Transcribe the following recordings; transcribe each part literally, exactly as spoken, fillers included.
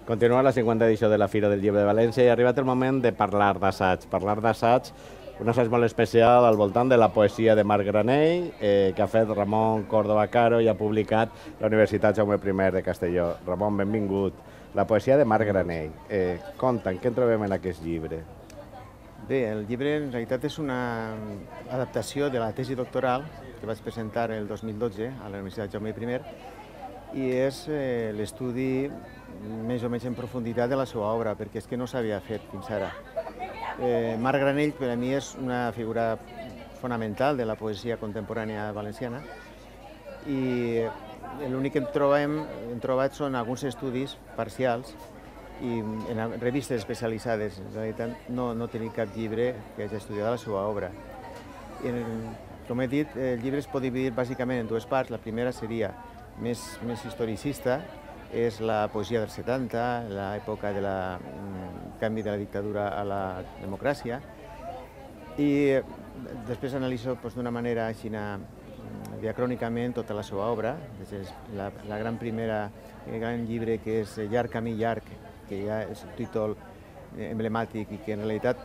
Continua la cinquanta edició de la Fira del Llibre de València i ha arribat el moment de parlar d'assaig. Parlar d'assaig, un assaig molt especial al voltant de la poesia de Marc Granell, eh, que ha fet Ramon Córdoba Caro i ha publicat la Universitat Jaume primer de Castelló. Ramon, benvingut. La poesia de Marc Granell. Eh, Conta'm, què en trobem en aquest llibre? Bé, el llibre en realitat és una adaptació de la tesi doctoral que vaig presentar el dos mil dotze a la Universitat Jaume primer i és eh, l'estudi més o menys en profunditat de la seva obra, perquè és que no s'havia fet fins ara. Eh, Marc Granell per a mi és una figura fonamental de la poesia contemporània valenciana i l'únic que hem, trobem, hem trobat són alguns estudis parcials i en revistes especialitzades. En realitat no, no tenim cap llibre que hagi estudiat la seva obra. I, com he dit, el llibre es pot dividir bàsicament en dues parts. La primera seria més, més historicista, és la poesia dels setanta, l'època del canvi de la dictadura a la democràcia, i després analitzo doncs, d'una manera així diacrònicament tota la seva obra, la, la gran primera, el gran llibre que és Llarg camí llarg, que ja és un títol emblemàtic i que en realitat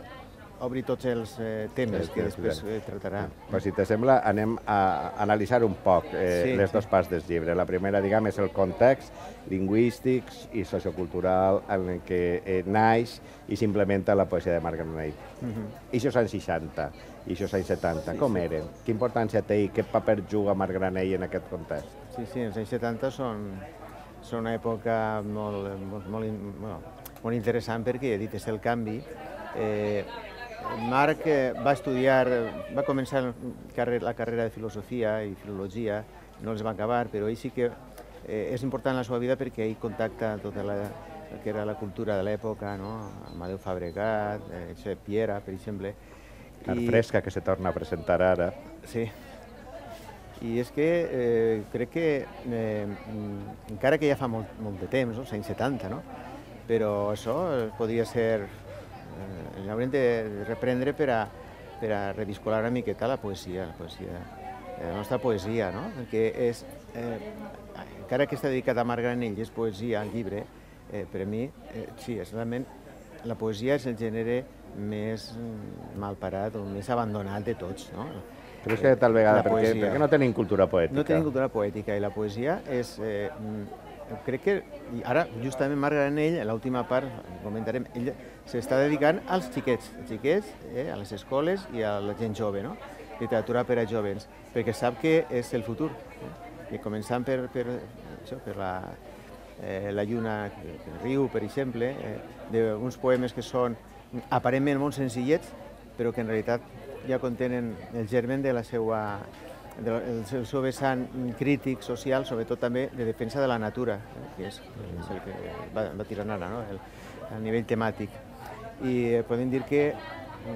obri tots els eh, temes que després eh, tractarà. Però si te sembla, anem a analitzar un poc eh, sí, les dues sí. parts del llibre. La primera, diguem, és el context lingüístic i sociocultural en el que eh, naix i s'implementa la poesia de Marc Granell. Uh -huh. I això anys seixanta, i això anys setanta, sí, com sí. eren? Quina importància té i qué paper juga Marc Granell en aquest context? Sí, sí, els anys setanta són, són una època molt, molt, molt, bueno, molt interessant perquè, he dit, és el canvi. Eh, Marc va estudiar, va començar la carrera de filosofia i filologia, no els va acabar, però ell sí que eh, és important en la seva vida perquè ell contacta tota la que era la cultura de l'època, no? Amadeu Fabregat, eh, Piera, per exemple. Art I... fresca que se torna a presentar ara. Sí. I és que eh, crec que, eh, encara que ja fa molt, molt de temps, no? Els anys setanta, no? Però això podria ser... Eh, l'haurem de reprendre per a, per a reviscolar una miqueta la poesia, la poesia, eh, la nostra poesia, no? Perquè és, eh, encara que està dedicat a Marc Granell, és poesia, el llibre, eh, per a mi, eh, sí, és realment, la poesia és el gènere més malparat o més abandonat de tots, no? Però és que tal vegada, perquè, perquè no tenim cultura poètica. No tenim cultura poètica i la poesia és... Eh, crec que ara, justament, Marc Granell, en l'última part, comentarem, ell s'està dedicant als xiquets, als xiquets, eh, a les escoles i a la gent jove, no? Literatura per a jovens, perquè sap que és el futur. Eh? I començant per, per, això, per la, eh, la lluna que, que riu, per exemple, eh, d'uns poemes que són aparentment molt senzillets, però que en realitat ja contenen el germen de la seva... el seu vessant crític, social, sobretot també de defensa de la natura, que és, és el que va, va tirant ara, no? el, a nivell temàtic. I podem dir que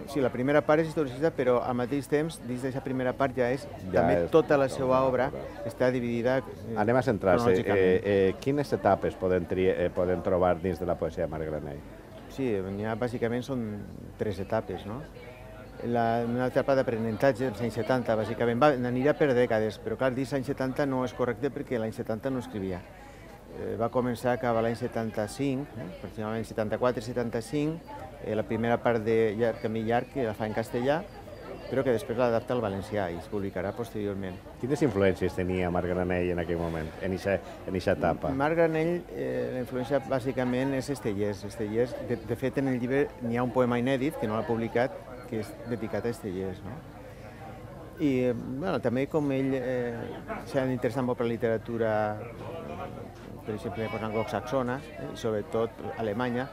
sí, la primera part és historicista, però al mateix temps, dins d'aquesta primera part ja és, ja també és, tota la seva obra està dividida eh, Anem a centrar-se. Eh, eh, quines etapes podem, eh, podem trobar dins de la poesia de Marc Granell? Sí, ja bàsicament són tres etapes, no? La, una etapa d'aprenentatge dels anys setanta, bàsicament, va, anirà per dècades, però clar, dir anys setanta no és correcte perquè l'any setanta no escrivia. Eh, va començar cap a l'any setanta-cinc, eh, aproximadament setanta-quatre setanta-cinc, eh, la primera part de Llarg camí llarg, que la fa en castellà, però que després l'adapta al valencià i es publicarà posteriorment. Quines influències tenia Marc Granell en aquell moment, en aquesta etapa? Marc Granell, eh, la influència bàsicament és Estellés. Estellés, de, de fet, en el llibre n'hi ha un poema inèdit, que no l'ha publicat, que és dedicat a Estellés, no? I bueno, també com ell eh, s'ha interessat molt per la literatura, per exemple, anglosaxona, eh, sobretot alemanya,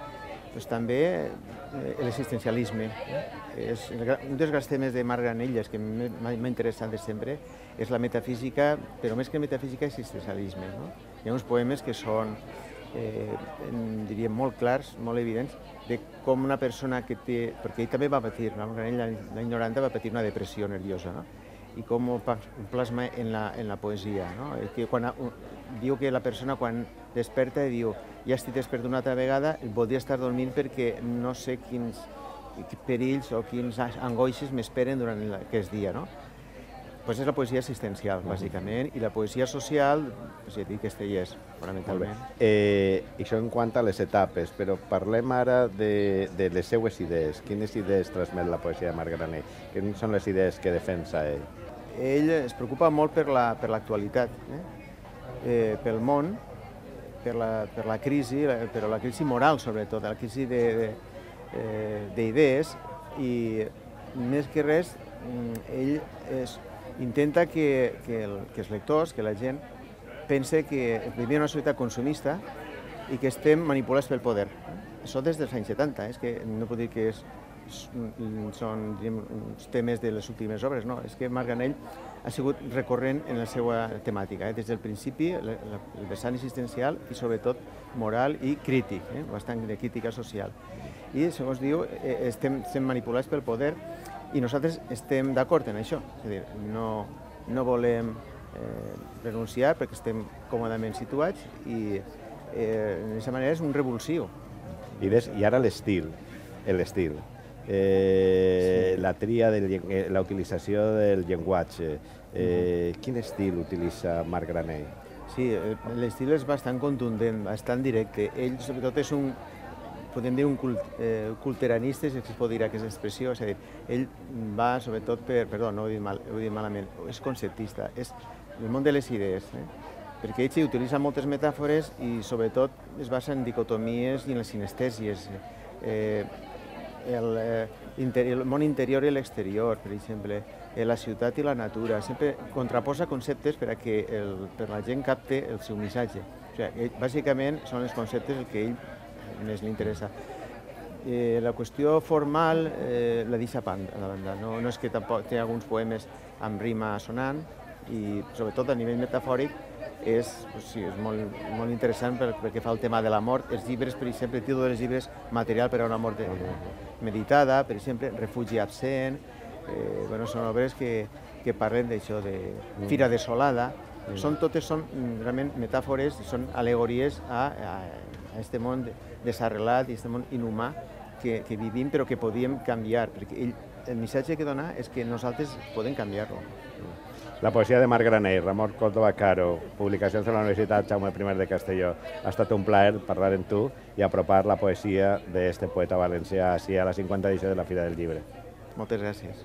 doncs també eh, l'existencialisme. Eh? És, un dels grans temes de Marc Granell, que m'ha interessat de sempre, és la metafísica, però més que metafísica, existencialisme. No? Hi ha uns poemes que són, eh, diríem, molt clars, molt evidents, de com una persona que té... Perquè ell també va patir, l'any noranta va patir una depressió nerviosa, no? I com ho plasma en la, en la poesia, no? Que quan, diu que la persona quan desperta i diu ja estic despert una altra vegada, voldria estar dormint perquè no sé quins perills o quins angoixes m'esperen durant aquest dia, no? pues és la poesia existencial, bàsicament, i la poesia social, pues, ja dic, Castellers, fonamentalment. Eh, això en quant a les etapes, però parlem ara de, de les seues idees. Quines idees transmet la poesia de Marc Granell? Quines són les idees que defensa ell? Ell es preocupa molt per la, per l'actualitat, eh? Eh, pel món, per la, per la crisi, per la crisi moral, sobretot, la crisi d'idees, i més que res, ell es, intenta que, que, el, que els lectors, que la gent, pense que vivim en una societat consumista i que estem manipulats pel poder. Això des dels anys setanta, és que no puc dir que és, són diguem, uns temes de les últimes obres, no, és que Marc Granell ha sigut recorrent en la seva temàtica, eh? Des del principi, el vessant existencial i sobretot moral i crític, eh? Bastant de crítica social. I, segons diu, estem, estem manipulats pel poder i nosaltres estem d'acord en això, és a dir, no, no volem eh, renunciar perquè estem còmodament situats i eh, d'aquesta manera és un revulsiu. I, des, i ara l'estil, l'estil, eh, sí. La tria, de la utilització del llenguatge, eh, quin estil utilitza Marc Granell? Sí, l'estil és bastant contundent, bastant directe. Ell sobretot és un, podem dir, un cult, eh, culteranista, si es pot dir aquesta expressió, és a dir, ell va sobretot per, perdó, no ho he dit, mal, ho he dit malament, és conceptista, és el món de les idees, eh? Perquè ell sí, utilitza moltes metàfores i sobretot es basa en dicotomies i en les sinestèsies. Eh, el, eh, interior, el món interior i l'exterior, per exemple, eh, la ciutat i la natura, sempre contraposa conceptes per a que el, per la gent capte el seu missatge. O sigui, ell, bàsicament són els conceptes el que ell més li interessa. Eh, la qüestió formal eh, la deixa a la banda. No, no és que tampoc té alguns poemes amb rima sonant i sobretot a nivell metafòric és, pues sí, és molt, molt interessant perquè fa el tema de la mort. Els llibres, per exemple, el títol dels llibres, Material per a una mort meditada, per exemple, Refugi absent, eh, bueno, són obres que, que parlen d'això, de Fira desolada. Mm. Són, totes són realment metàfores, són al·legories a, a, a este món desarrelat i este món inhumà que, que vivim però que podíem canviar, perquè ell, el missatge que dona és que nosaltres podem canviar-lo. La poesia de Marc Granell, Ramon Córdoba Caro, publicacions de la Universitat Jaume I de Castelló. Ha estat un plaer parlar amb tu i apropar la poesia d'aquest poeta valencià així a la cinquanta edició de la Fira del Llibre. Moltes gràcies.